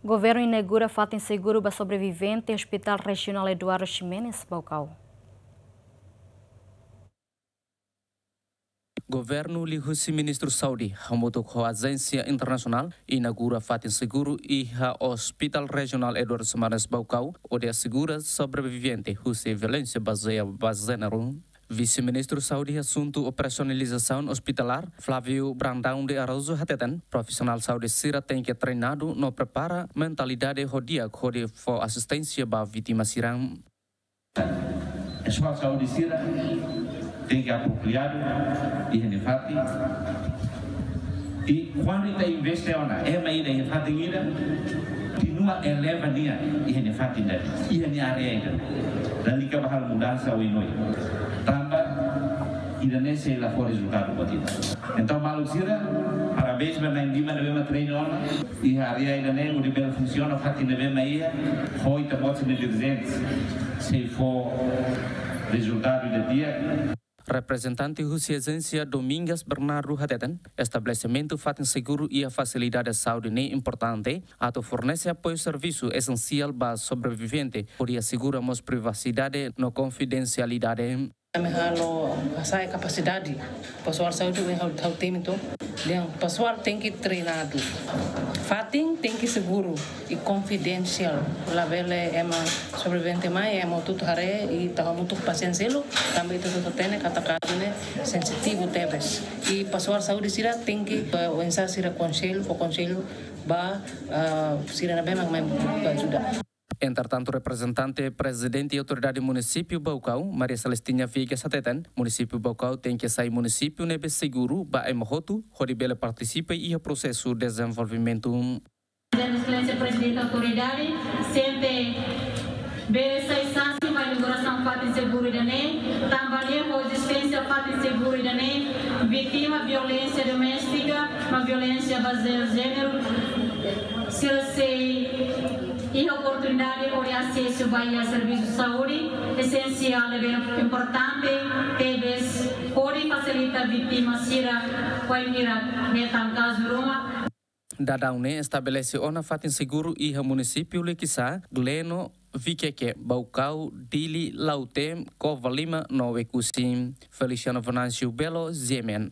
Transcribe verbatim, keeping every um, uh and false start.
Governu inaugura fatin seguru ba sobrevivente Hospital Rejionál Eduardo Ximenes, Baucau. Governu liuhusi Ministru Saúde hamutuk ho ajénsia internasionál inaugura fatin seguru iha Hospital Rejionál Eduardo Ximenes Baucau, hodi asegura sobrevivente husi violénsia bazeia ba jéneru. Vise-Ministru Saúde Asuntu Operasionalizasaun Ospitalár, Flávio Brandão de Araújo hateten, profisionál saúde sira tenke treinadu no prepara mentalidade ho di'ak hodi fó asisténsia ba vítima sira. Pessoal saúde sira tenke apropriadu iha nia fatin. I kuandu ita investe ona ema ida iha fatin ida, kontinua eleva nia iha nia fatin ida, iha nia área ida. Lalika ba halo mudansa oioin. Tanba ida-ne'e sei la fó rezultadu ba ita. Entaun, maluk sira, parabéns ba na'in lima ne'ebé mak treina ona iha área ida-ne'e, hodi bele funsiona fatin ne'ebé mak iha, ho ita-boot sira-nia dirijente sei fó rezultadu ida di'ak. Reprezentante husi ajénsia Domingas Bernardo hateten, estabelesimentu fatin seguru iha fasilidade saúde ne'e importante atu fornese apoiu servisu esensiál ba sobrevivente, hodi asegura mós privasidade no konfidensialidade. Ami halo hasa'e kapasidade pesoál saúde, ami halo, halo temi to. Dehan pesoál tenke treinadu. Fatin tenke seguru i konfidensiál. Labele ema sobrevivente mai, ema hotu-hotu haree, i ita hamutuk pasiente seluk, tanba ita hotu hatene katak kazu ne'e sensitivu tebes. I pesoál saúde sira tenke, eh, oinsá sira konsellu, fó konsellu ba, ah, sira ne'ebé mak mai buka ajuda. Entretantu, reprezentante Prezidente Autoridade Munisípiu Baucau, Maria Celestina Viegas hateten, Munisípiu Baucau tenke sai munisípiu ne'ebé seguru ba ema hotu, hodi bele partisipa iha prosesu dezenvolvimentu. Exelénsia Prezidente Autoridade, sente bele sai sansi ba inaugurasaun fatin seguru ida-ne'e, tanba ne'e ho ezisténsia fatin seguru ida-ne'e, vítima violénsia doméstika, no violénsia bazeia jéneru, sira sei iha oportunidade hodi asesu ba iha servisu saúde esensiál ne'ebé importante tebes hodi fasilita vítima sira wainhira hetan kazu ruma. Daudaun ne'e estabelese ona fatin seguru iha munisípiu Liquiçá, Gleno, Viqueque, Baucau, Dili, Lautém, Covalima no Oecusse. Feliciano Venâncio Belo, G M N.